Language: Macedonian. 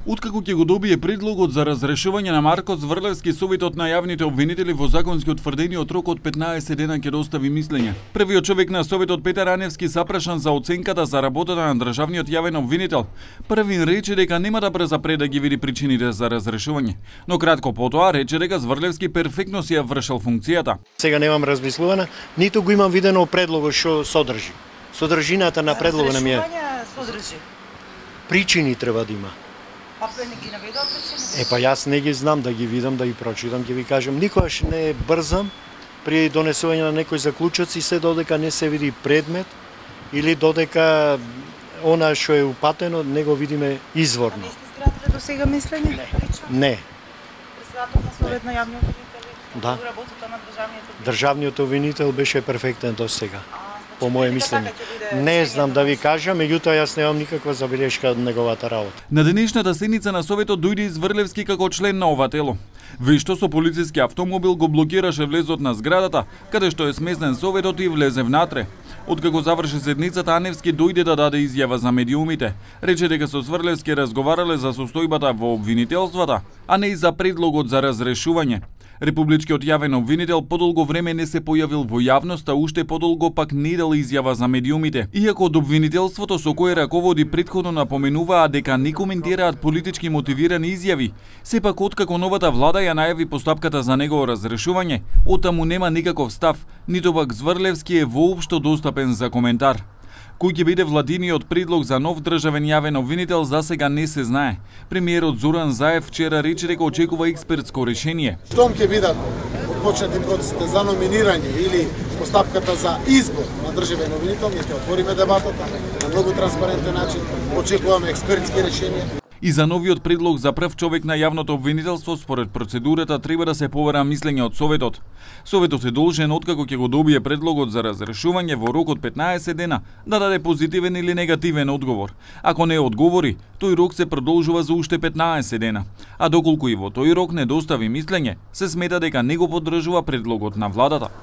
Откако ќе го добие предлогот за разрешување на Марко Зврлевски, Советот на јавните обвинители во законски утврдениот рок од 15 дена ќе достави мислење. Првиот човек на Советот, Петар Аневски, запрашан за оценката за работата на државниот јавен обвинител, првин рече дека нема да презапре да ги види причините за разрешување, но кратко потоа рече дека Зврлевски перфектно си ја вршел функцијата. Сега немам размислувана, ниту го имам видено предлогот што содржи. Содржината на предлогот ми е. Причини треба да има. Не ги наведува причини? Па јас не ги знам, да ги видам, да ги прочитам, ќе ви кажам. Никогаш не брзам при донесување на некој заклучоци, се додека не се види предмет или додека она што е упатено не го видиме изворно. Не сте изградиле до сега мислење? Не. Председател на Совет на јавни обвинители? Да. Работата на државниот обвинител беше перфектен до сега. По моје мислење. Не знам да ви кажам, меѓутоа јас немам никаква забелешка од неговата работа. На денешната седница на Советот дојде Зврлевски како член на ова тело. Вешто со полициски автомобил го блокираше влезот на зградата, каде што е сместен Советот и влезе внатре. Откако заврши седницата, Аневски дојде да даде изјава за медиумите. Рече дека со Зврлевски разговарале за состојбата во обвинителствата, а не и за предлогот за разрешување. Републичкиот јавен обвинител подолго време не се појавил во јавноста, уште подолго пак не дал изјава за медиумите. Иако од обвинителството со кое раководи претходно напоменуваа дека не коментираат политички мотивирани изјави, сепак откако новата влада ја најави постапката за негово разрешување, оттаму нема никаков став, ниту пак Зврлевски е воопшто достапен за коментар. Кој ќе биде владиниот предлог за нов државен јавен обвинител за сега не се знае. Премиерот Зоран Заев вчера рече дека очекува експертско решение. Штом ќе бидат почнати процесите за номинирање или постапката за избор на државен обвинител, ние ќе отвориме дебатата на многу транспарентен начин, очекуваме експертски решенија. И за новиот предлог за прв човек на јавното обвинителство, според процедурата, треба да се побара мислење од Советот. Советот е должен, откако ќе го добие предлогот за разрешување во рок од 15 дена, да даде позитивен или негативен одговор. Ако не одговори, тој рок се продолжува за уште 15 дена. А доколку и во тој рок не достави мислење, се смета дека не го поддржува предлогот на владата.